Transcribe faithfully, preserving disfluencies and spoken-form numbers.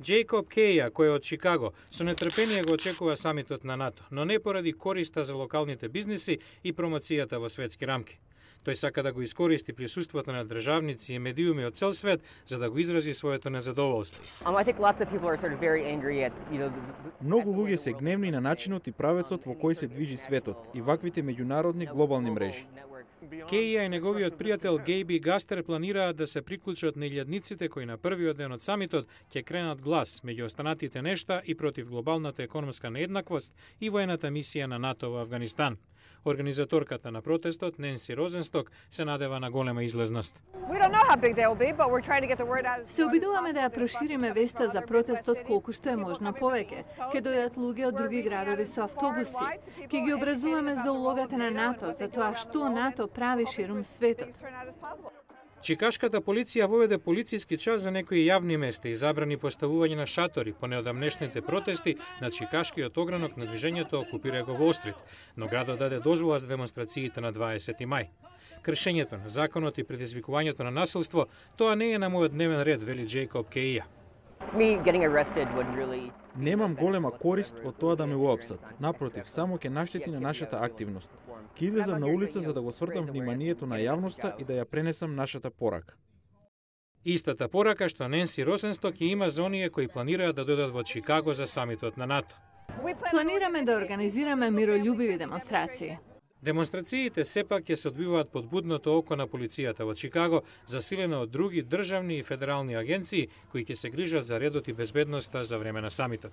Джейкоб Кеја, кој е од Чикаго, со нетрпение го очекува самитот на НАТО, но не поради користа за локалните бизниси и промоцијата во светски рамки. Тој сака да го искористи присуството на државници и медиуми од цел свет за да го изрази своето незадоволство. Многу луѓе се гневни на начинот и правецот во кој се движи светот и ваквите меѓународни глобални мрежи. Кеја и неговиот пријател Гејби Гастер планираат да се приклучат на илјадниците кои на првиот ден од самитот ќе кренат глас меѓу останатите нешта и против глобалната економска нееднаквост и воената мисија на НАТО во Авганистан. Организаторката на протестот, Ненси Розенсток, се надева на голема излезност. Се обидуваме да ја прошириме веста за протестот колку што е можно повеќе. Ке дојдат луѓе од други градови со автобуси. Ке ги образуваме за улогата на НАТО, за тоа што НАТО прави ширум светот. Чикашката полиција воведе полициски час за некои јавни места и забрани поставување на шатори по неодамнешните протести на чикашкиот огранок на движењето Окупирај го Wall Street, но градот даде дозвола за демонстрациите на дваесети мај. Кршењето на законот и предизвикувањето на насилство, тоа не е на мојот дневен ред, вели Джейкоб Кеја. Немам голема корист од тоа да ме уапсат. Напротив, само ќе наштети на нашата активност. Ќе излезам на улица за да го свртам вниманието на јавноста и да ја пренесам нашата порака. Истата порака што Ненси Розенсток ќе има за оние кои планираат да дојдат во Чикаго за самитот на НАТО. Планираме да организираме мирољубиви демонстрации. Демонстрациите сепак ќе се одвиваат под будното око на полицијата во Чикаго, засилена од други државни и федерални агенции кои ќе се грижат за редот и безбедноста за време на самитот.